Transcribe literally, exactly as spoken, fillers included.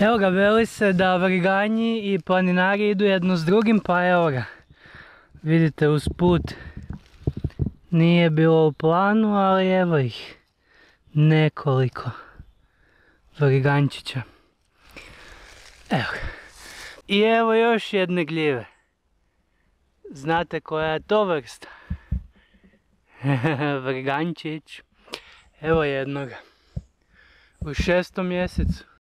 Evo ga, veli se da vriganji i planinari idu jedno s drugim, pa evo ga. Vidite, uz put nije bilo u planu, ali evo ih nekoliko vrigančića. Evo ga. I evo još jedne gljive. Znate koja je to vrsta? Vrigančić. Evo jednoga. U šestom mjesecu.